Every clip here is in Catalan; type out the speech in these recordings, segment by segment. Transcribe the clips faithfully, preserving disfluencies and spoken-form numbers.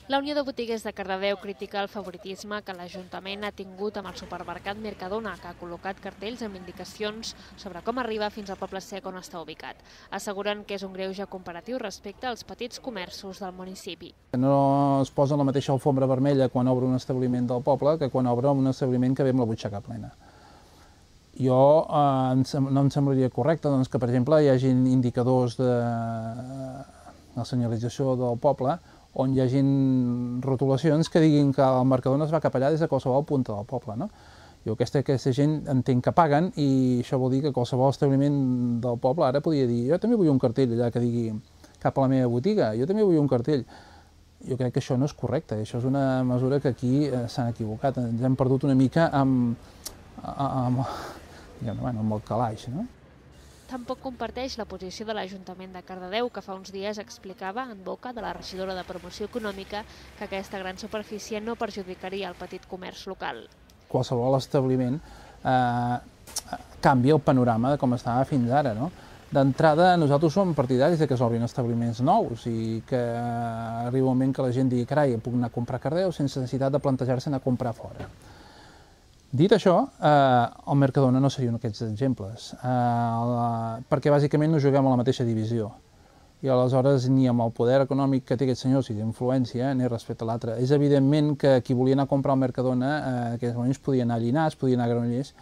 La Unió de Botiguers de Cardedeu critica el favoritisme que l'Ajuntament ha tingut amb el supermercat Mercadona, que ha col·locat cartells amb indicacions sobre com arriba fins al Poble Sec on està ubicat. Asseguren que és un greuge comparatiu respecte als petits comerços del municipi. No es posa la mateixa alfombra vermella quan obre un establiment del poble que quan obre un establiment que ve amb la butxaca plena. Jo eh, no em semblaria correcte doncs, que, per exemple, hi hagi indicadors de la senyalització del poble on hi hagi rotulacions que diguin que el Mercadona es va cap allà des de qualsevol punta del poble. No? Jo aquesta, aquesta gent entenc que paguen i això vol dir que qualsevol establiment del poble ara podria dir jo també vull un cartell allà que digui cap a la meva botiga, jo també vull un cartell. Jo crec que això no és correcte, això és una mesura que aquí eh, s'han equivocat, ens hem perdut una mica amb, amb, diguem, bueno, amb el calaix. No? Tampoc comparteix la posició de l'Ajuntament de Cardedeu, que fa uns dies explicava en boca de la regidora de Promoció Econòmica que aquesta gran superfície no perjudicaria el petit comerç local. Qualsevol establiment eh, canvia el panorama de com estava fins ara. No? D'entrada, nosaltres som partidaris de que s'obrin establiments nous i que arriba un moment que la gent digui carai, puc anar a comprar a Cardedeu sense necessitat de plantejar-se anar a comprar fora. Dit això, eh, el Mercadona no seria un d'aquests exemples, eh, la, perquè bàsicament no juguem a la mateixa divisió. I aleshores ni amb el poder econòmic que té aquest senyor, si d'influència, ni respecte a l'altre. És evidentment que qui volia anar a comprar al Mercadona eh, en aquells moments podia anar a Llinars, podia anar a Granollers,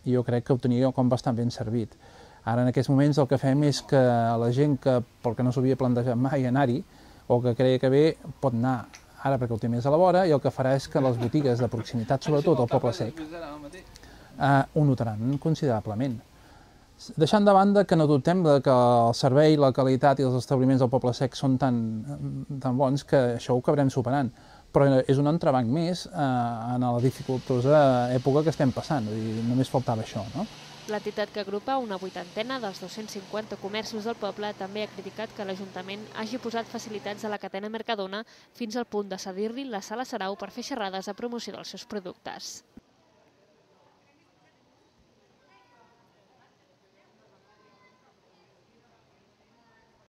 i jo crec que ho tenia com bastant ben servit. Ara en aquests moments el que fem és que la gent que, pel que no s'havia plantejat mai anar-hi, o que creia que bé, pot anar ara perquè ho té més a la vora, i el que farà és que les botigues de proximitat, sobretot al Poble Sec, eh, ho notaran considerablement. Deixant de banda que no dubtem que el servei, la qualitat i els establiments del Poble Sec són tan, tan bons que això ho acabarem superant, però és un entrebanc més eh, en la dificultosa època que estem passant, vull dir, només faltava això, no? L'entitat que agrupa una vuitantena dels dos-cents cinquanta comerços del poble també ha criticat que l'Ajuntament hagi posat facilitats a la cadena Mercadona fins al punt de cedir-li la sala Sarau per fer xerrades a promoció dels seus productes.